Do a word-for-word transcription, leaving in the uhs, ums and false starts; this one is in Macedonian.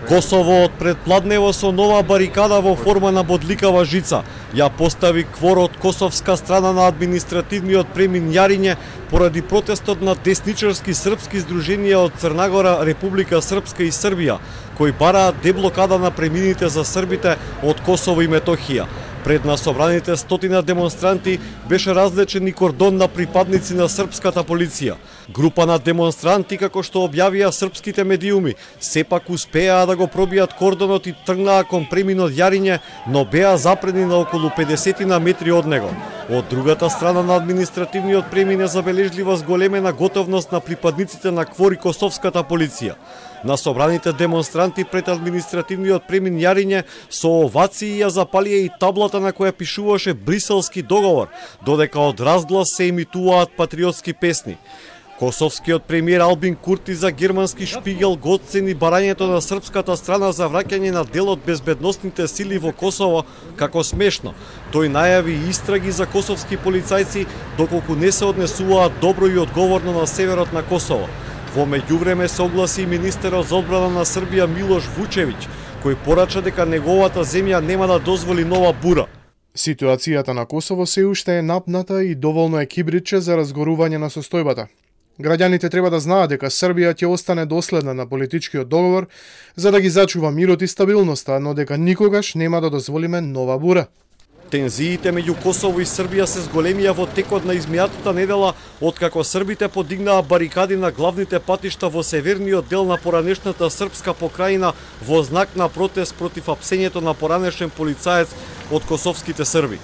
Косово од предпладнево со нова барикада во форма на бодликава жица ја постави квор од косовска страна на административниот премин Јариње поради протестот на десничарски српски здруженија од Црнагора, Република Српска и Србија, кои бараат деблокада на премините за србите од Косово и Метохија. Пред на собраните стотина демонстранти беше развлечен и кордон на припадници на српската полиција. Група на демонстранти, како што објавија српските медиуми, сепак успеа да го пробијат кордонот и тргнаа кон преминот Јариње, но беа запредни на околу педесет метри од него. Од другата страна на административниот премин е забележлива зголемена готовност на припадниците на квор и косовската полиција. На собраните демонстранти пред административниот премин Јариње со овации ја запалија и таблата на која пишуваше Бриселски договор, додека од разглас се емитуваат патриотски песни. Косовскиот премиер Албин Курти за германски Шпигел го оцени барањето на српската страна за враќање на дел од безбедносните сили во Косово како смешно. Тој најави истраги за косовски полицајци доколку не се однесуваат добро и одговорно на северот на Косово. Во меѓувреме се огласи и министерот за одбрана на Србија Милош Вучевиќ, кој порача дека неговата земја нема да дозволи нова бура. Ситуацијата на Косово се уште е напната и доволно е кибриче за разгорување на состојбата. Граѓаните треба да знаат дека Србија ќе остане доследна на политичкиот договор за да ги зачува мирот и стабилноста, но дека никогаш нема да дозволиме нова бура. Тензиите меѓу Косово и Србија се зголемија во текот на измијатата недела, откако србите подигнаа барикади на главните патишта во северниот дел на поранешната српска покрајина во знак на протест против апсењето на поранешен полицаец од косовските срби.